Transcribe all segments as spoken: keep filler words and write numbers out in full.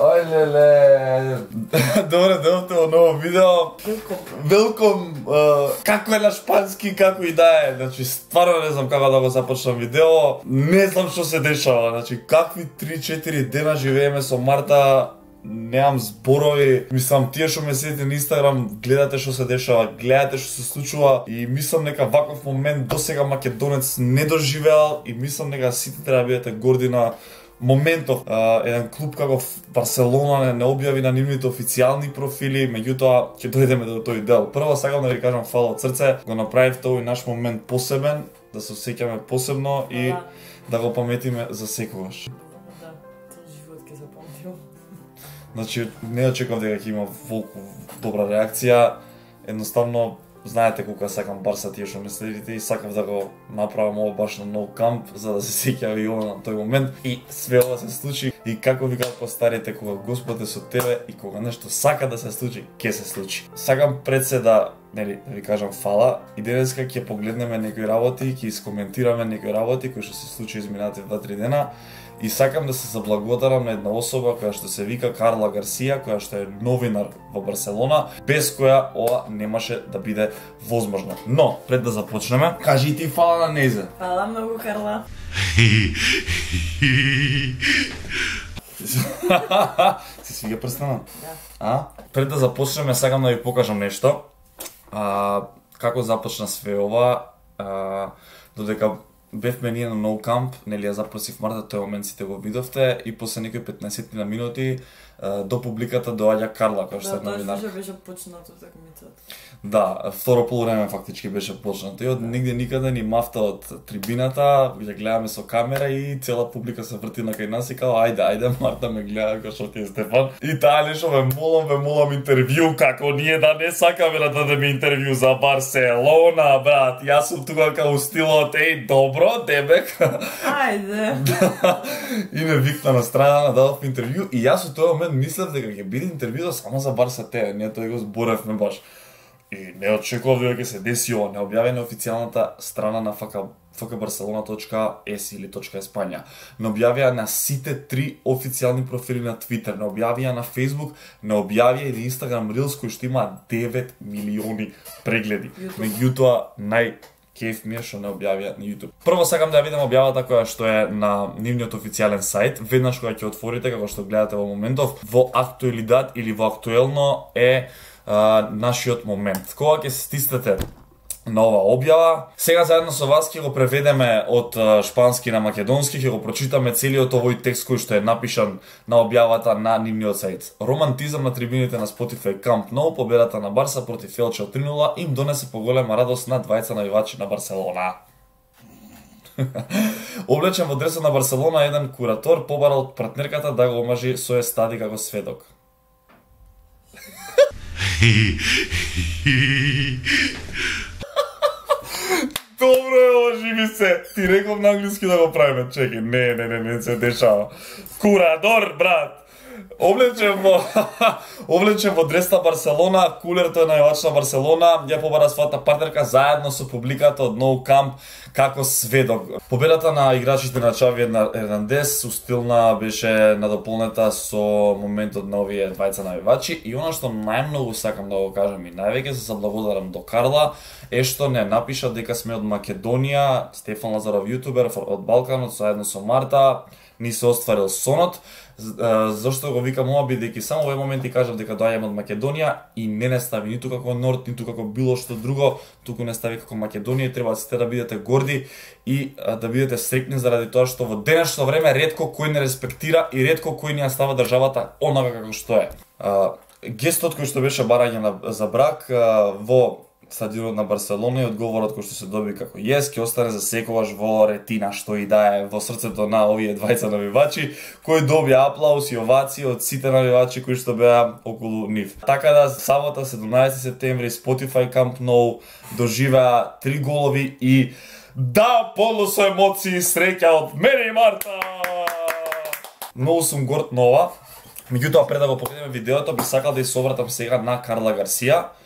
Ај леле. Добре, дојдовте во ново видео. Велком. Како е на шпански, како и да е. Значи, стварно не знам како да го започнам видео. Не знам што се дешава. Значи, какви три-четири дена живееме со Марта. Немам зборови. Мислам, тие што ме следите на Инстаграм, гледате што се дешава, гледате што се случува и мислам дека ваков момент досега македонец не доживеал и мислам дека сите треба да бидете горди на моментов. Uh, еден клуб како Барселона не, не објави на нивните официјални профили, меѓутоа ќе дојдеме до тој дел. Прво сакам да ви кажам фала од срце, го направивте овој наш момент посебен, да се осеќаме посебно и да го паметиме за секогаш. Да, цел живот ќе запомним. Значи, не очекував дека ќе има волку добра реакција. Едноставно, знаете колку сакам Барса, тие што ме следите, и сакав да го направам ово баш на нов камп, за да се сеќава и ова на тој момент. И све ова се случи. И како викаат постарите, кога Господ е со тебе и кога нешто сака да се случи, ќе се случи. Сакам пред се да, нели, да ви кажам фала. И денеска ќе погледнеме некои работи, ќе искоментираме некои работи кои што се случи изминатите два-три дена. И сакам да се заблагодарам на една особа која што се вика Карла Гарсија, која што е новинар во Барселона, без која ова немаше да биде возможно. Но, пред да започнеме, кажи ти фала на нејзе. Фала многу, Карла. Си свига прстена? Да. А? Пред да започнеме, сакам да ви покажам нешто. А, како започна све ова, а, додека бевме ние на No Camp, нели ја запросив Марта, тој момент сите го видовте и после некои петнаесет на минути до публиката доаѓа Карла, која што е новинар. Да, тоа беше почнато такмицата. Да, второ полувреме фактички беше почнато и од нигде никаде ни мафта од трибината, ја гледаме со камера и цела публика се врти на кај нас и као ајде, ајде, Марта ме гледа како што ти е Стефан. И таа нешто ве молам, ве молам интервју, како ние да не сакаме да дадеме интервју за Барселона, брат. Јас сум тука као стилот, еј, добро, дебек. Ајде. И ме викна на страна, дадов интервју и јас од тој момент мислев дека ќе биде интервјуа само за Барса те, ние тој го зборевме баш. И не очекував дека ќе се деси ова, не објави на официјалната страна на фк барселона точка ес или .Espanja. Не објавија на сите три официјални профили на Twitter, не објавија на Facebook, не објавија и на Instagram Reels кој што има девет милиони прегледи. Меѓутоа нај кеф ми е што не објавија на YouTube. Прво сакам да ја видам објавата која што е на нивниот официјален сајт. Веднаш кога ќе отворите, како што гледате во моментов, во актуелидад или во актуелно е а, нашиот момент. Кога ќе се стиснете на ова објава, сега заедно со вас ќе го преведеме од шпански на македонски, ќе го прочитаме целиот овој текст кој што е напишан на објавата на нивниот сајт. Романтизам на трибините на Spotify Camp Nou, победата на Барса против Елче три нула им донесе поголема радост на двајца навивачи на Барселона. Облечен во дресот на Барселона, еден куратор побарал од партнерката да го омажи со естади како сведок. Добро е, ожи ми се. Ти реков на англиски да го правиме. Чекай, не, не, не, не се дешава. Курадор, брат. Облечен во облечен во дрес на Барселона, кулер тој највач на Барселона, ја побара својата партнерка заедно со публиката од No Camp како сведок. Победата на играчите на Чави Ернандес устилна беше надополнета со моментот на овие двајца навивачи и она што најмногу сакам да го кажам и највеќе се заблагодарам до Карла е што не напиша дека сме од Македонија, Стефан Лазаров јутубер од Балканот заедно со Марта, ни се остварил сонот. Зошто го викам ова, бидејќи само во овој момент ти кажав дека доаѓам од Македонија и не не стави ниту како Норд, ниту како било што друго, туку не стави како Македонија и треба сите да бидете горди и да бидете среќни заради тоа што во денешно време ретко кој не респектира и ретко кој ни ја става државата онака како што е. Гестот кој што беше барање за брак во стадионот на Барселона и одговорот кој што се доби како јес, ќе остане за секогаш во ретина што и да е во срцето на овие двајца навивачи, кои добија аплауз и овации од сите навивачи кои што беа околу нив. Така да сабота седумнаесети септември Spotify Camp Nou доживеа три голови и да, полно со емоции и среќа од мене и Марта. Многу сум горд на ова. Меѓутоа пред да го погледнеме видеото, би сакал да ја собратам сега на Карла Гарсија.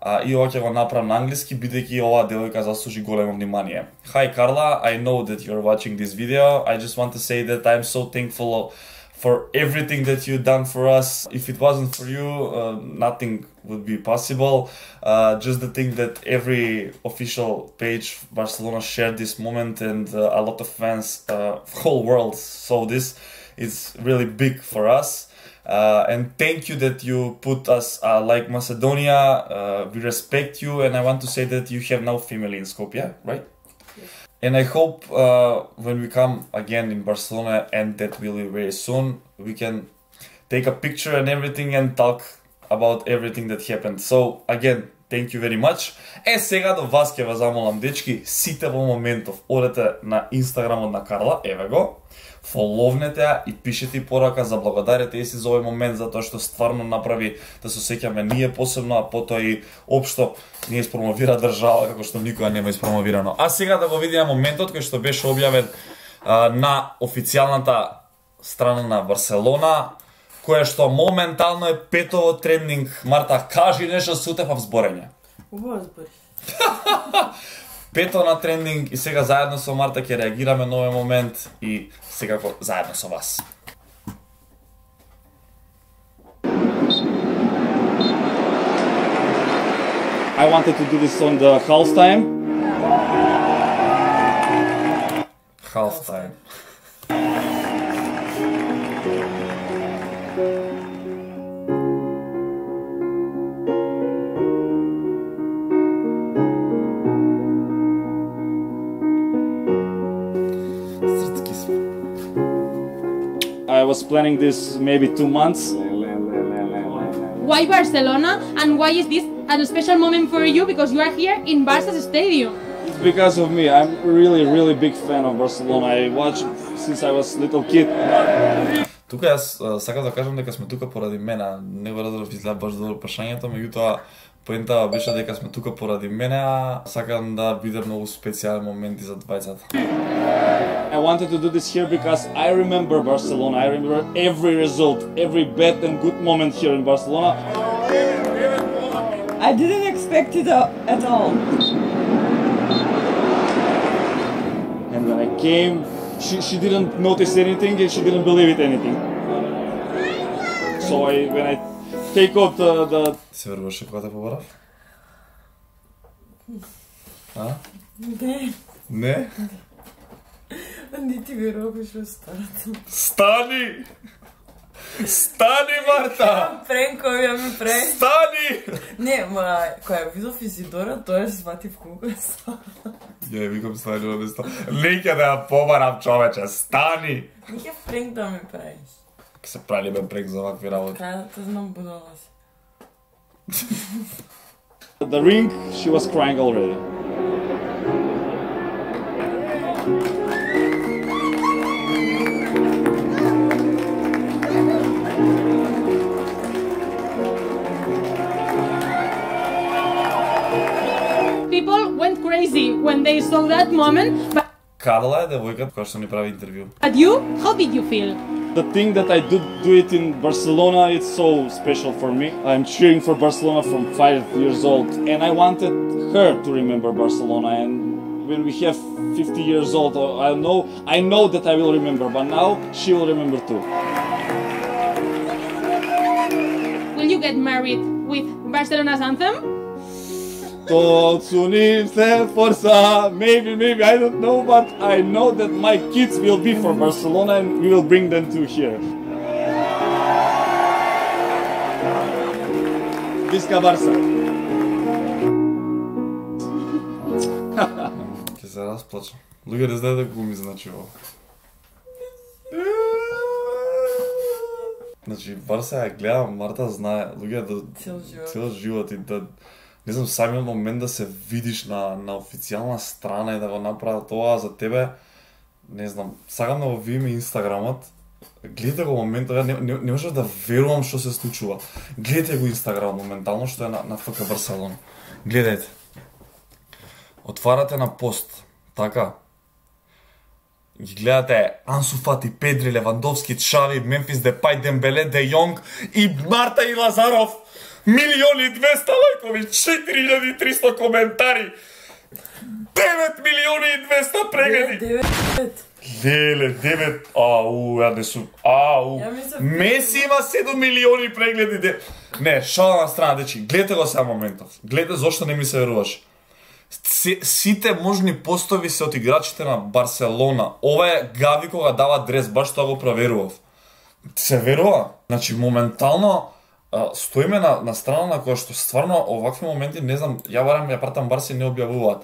Uh, и ова ќе го направам на англиски, бидејќи оваа девојка заслужи големо внимание. Hi Carla, I know that you're watching this video. I just want to say that I'm so thankful for everything that you've done for us. If it wasn't for you, uh, nothing would be possible. Uh, just the thing that every official page Barcelona shared this moment, and uh, a lot of fans, uh, whole world saw this. It's really big for us. Uh, and thank you that you put us uh, like Macedonia. Uh, we respect you, and I want to say that you have now family in Skopje, right? Yes. And I hope uh, when we come again in Barcelona, and that will be very soon, we can take a picture and everything and talk about everything that happened. So again, thank you very much. Е, сега до вас ќе ве замолам, дечки, сите во моментов одете на Инстаграмот на Карла, еве го, фоловнете ја и пишете и порака, заблагодарете и си за овој момент, затоа што стварно направи да се сеќаме ние посебно, а потоа и општо ние испромовира држава како што никога нема испромовирано. А сега да го видиме моментот кој што беше објавен а, на официјалната страна на Барселона, која што моментално е петово трендинг. Марта, кажи нешто сутев в зборење. Убаво збори. Пето на трендинг и сега заедно со Марта ќе реагираме на овој момент и секако заедно со вас. I wanted to do this on the half time. Half time. I was planning this maybe two months. Why Barcelona, and why is this a special moment for you, because you are here in Barca's stadium? It's because of me. I'm really, really big fan of Barcelona. I watched since I was little kid. Тука јас а, сакам да кажам дека сме тука поради мене. Не го разбрав изгледа баш добро прашањето, меѓутоа поентава беше дека сме тука поради мене, а сакам да биде многу специјален момент и за двајцата. I wanted to do this here because I remember Barcelona. I remember every result, every bad and good moment here in Barcelona. I didn't expect it at all. And when I came, she, she didn't notice anything and she didn't believe it anything. So I, when I take out the, the Се веруваше кога те побарав? А? Не, Не? не ти веруваш во старата. Стани! Стани, Марта! Пренкови ја ми пре. Стани! Не, ма, која видов Изидора, тоа сватив колку е стара. Ја викам стани на место. Не ќе да ја побарам, човече, стани! Не ќе пренк да ми правиш. Ке се прави бе прек за вакви работи. Кај да те знам будала си. the ring, she was crying already. People went crazy when they saw that moment, but, Карла е девојката која што ни прави интервју. but you, how did you feel? The thing that I do do it in Barcelona, it's so special for me. I'm cheering for Barcelona from five years old, and I wanted her to remember Barcelona. And when we have fifty years old, I know I know that I will remember, but now she will remember too. Will you get married with Barcelona's anthem? Toți unite forța, maybe, maybe, I don't know, but I know that my kids will be for Barcelona and we will bring them to here. Visca Barça! Ќе се расплачам. Луѓе не знаат како ми значи ово. Значи, Барса ја гледам, Марта знае, луѓе да Цел живот. цел живот и да не знам, самиот момент да се видиш на на официјална страна и да го направат тоа за тебе, не знам, сакам да го видиме Инстаграмот. Гледате го моментот, ја не, не, не можам да верувам што се случува. Гледате го Инстаграм моментално што е на, на ФК Барселона. Гледајте. Отварате на пост, така. Ги гледате Ансу Фати, Педри, Левандовски, Чави, Мемфис Депај, Дембеле, Де Јонг и Марта и Лазаров. Милиони и двеста лајкови, четири илјади и триста коментари. девет милиони и двеста прегледи. девет. Леле, девет. Ау, ја не сум. Ау. Ја мислам- Меси има седум милиони прегледи. де- Не, шала на страна, дечи. Гледате го сега моментов. Гледате зошто не ми се веруваш. Си- Сите можни постови се од играчите на Барселона. Ова е Гави кога дава дрес, баш тоа го проверував. Се верува. Значи, моментално а, стоиме на, на страна на која што стварно овакви моменти, не знам, ја барам ја пратам Барси не објавуваат.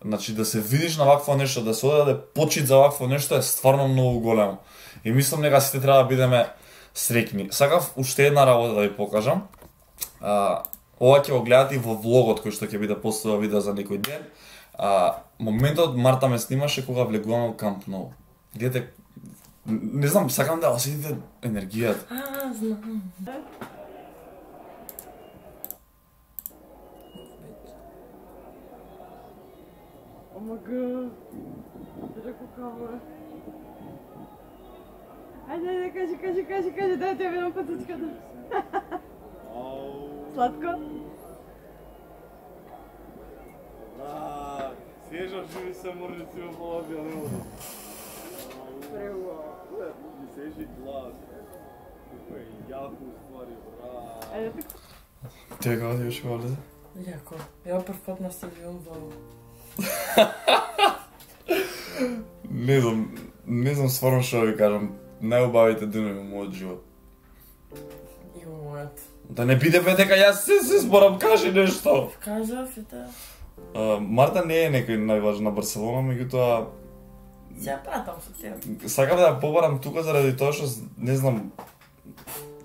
Значи, да се видиш на вакво нешто, да се одаде почит за вакво нешто е стварно многу големо. И мислам дека сите треба да бидеме среќни. Сакав уште една работа да ви покажам. А, ова ќе го гледате и во влогот кој што ќе биде поставил видео за некој ден. А, моментот Марта ме снимаше кога влегуваме во Камп Ноу. Гледате, не знам, сакам да осетите енергијата. А, знам. Омага. Реко каво е. Ајде, ајде, кажи, кажи, кажи, кажи, дај ти ја видам патичката. Сладко? Да, свежо живи се може си во половина не може. Прево. Ми сежи глас. Како е јако ствари, брат. Ајде, така. Тебе како ти беше валиде? Јако. Ја прв пат наставувам во... Не знам, не знам стварно што да ви кажам. Најубавите денови во мојот живот. И во мојот. Да не биде бе дека јас се се зборам, кажи нешто. Кажав и да... А, Марта не е некој најважна на Барселона, меѓутоа Ја пратам со тебе. сакам да ја побарам тука заради тоа што не знам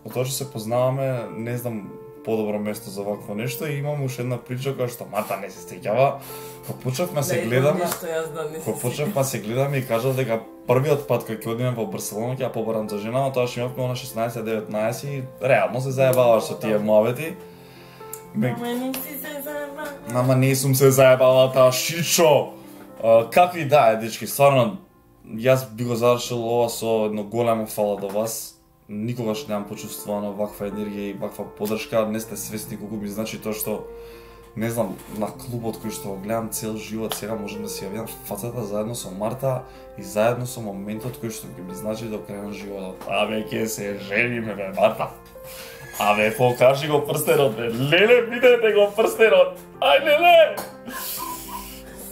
од тоа што се познаваме, не знам подобро место за вакво нешто и имам уште една прича која што Марта не се сеќава. Кога почнавме се гледаме, Нешто јас да не се кога почнавме се гледаме и кажав дека првиот пат кој ќе одиме во Барселона ќе ја побарам за жена, тоа што имавме на шеснаесет деветнаесет и реално се заебаваш со тие муабети. Ме- Ама не си се заебава. Ама не сум се заебала таа шичо. А, какви да е, дечки, стварно, јас би го завршил ова со едно големо фала до вас. Никогаш немам почувствувано ваква енергија и ваква поддршка. Не сте свесни колку ми значи тоа што, не знам, на клубот кој што го гледам цел живот, сега можам да си ја видам фацата заедно со Марта и заедно со моментот кој што ќе ми значи до крај на животот. Абе, ќе се жениме, бе, Марта. Абе, покажи го прстенот, бе. Леле, видете го прстенот. Ај, леле!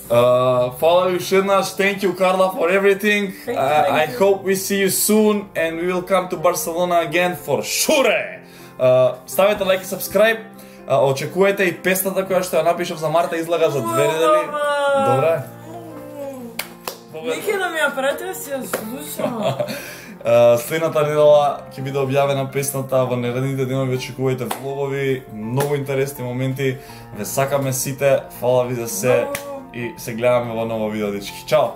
Uh, Фала ви уште еднаш. Thank you, Carla, for everything. Thank you, Uh, thank I you. hope we see you soon and we will come to Barcelona again for sure. Uh, ставете лайк и subscribe. Uh, очекувајте и песната која што ја напишав за Марта излага за две недели. Добре. Нека да ми ја прати да си ја слушам. Uh, следната недела ќе биде објавена песната, во наредните денови очекувајте влогови, многу интересни моменти. Ве сакаме сите, фала ви за се и се гледаме во ново видео, дечки. Чао!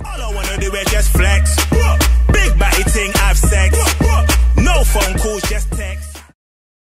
All I wanna do is just flex.